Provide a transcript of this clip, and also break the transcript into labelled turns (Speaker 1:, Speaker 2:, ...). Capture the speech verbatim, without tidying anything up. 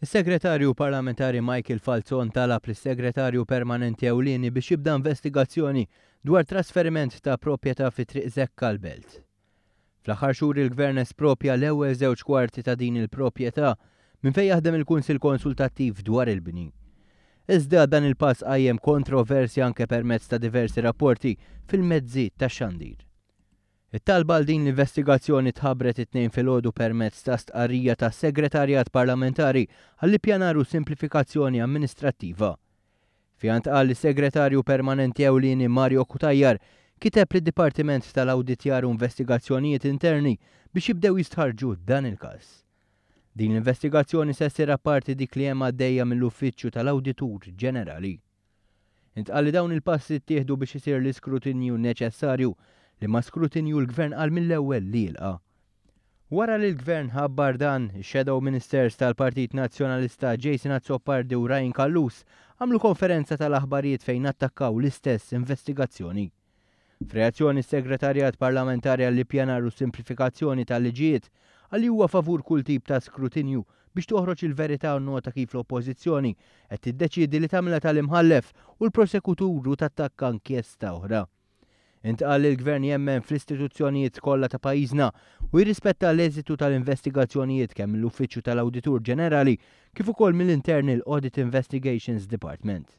Speaker 1: Is-Segretarju Parlamentari Michael Falzon talab lis-Segretarju Permanenti Ewlieni biex jibda investigazzjoni dwar trasferiment ta' proprjetà fi Triq Zekka l-Belt. Fl-aħħar xhur il-Gvern espropja l-ewwel żewġ kwarti ta' din il-proprjetà minn fejn jaħdem il-Kunsill Konsultattiv dwar il-bini. Iżda dan il-pass qajjem kontroversja anke permezz ta' diversi rapporti fil-mezzi tax-xandir. It-talba għal din l-investigazzjoni tħabbret it-Tnejn filgħodu permezz ta' stqarrija tas-Segretarjat Parlamentari għall-Ippjanar u Simplifikazzjoni Amministrattiva. Fiha ntqal li s-Segretarju Permanenti Ewlieni Mario Cutajar kiteb lid-Dipartiment tal-Awditjar u Investigazzjonijiet Interni biex jibdew jistħarrġu dan il-każ. Din l-investigazzjoni se ssir apparti dik li hemm għaddejja mill-Uffiċċju tal-Awditur Ġenerali. Intqal li dawn il-passi ttieħdu biex isir l-iskrutinju neċessarju li ma skrutinju l-Gvern qal mill-ewwel li jilqa'. Wara li l-Gvern ħabbar dan, ix-Shadow Ministers tal-Partit Nazzjonalista Jason Azzopardi u Ryan Callus għamlu konferenza tal-aħbarijiet fejn attakkaw l-istess investigazzjoni. F'reazzjoni s-Segretarjat Parlamentari għall-Ippjanar u Simplifikazzjoni tal-Liġijiet qal li huwa favur kull tip ta' skrutinju biex toħroġ il-verità u nnota kif l-Oppożizzjoni qed tiddeċiedi li tagħmilha tal-imħallef u l-prosekutur u tattakka inkjesta oħra. Intqal li l-Gvern jemmen fl-istituzzjonijiet kollha ta' pajjiżna u jirrispetta l-eżitu tal-investigazzjonijiet kemm mill-Uffiċċju tal-Awditur Ġenerali kif ukoll mill-Internal Audit Investigations Department.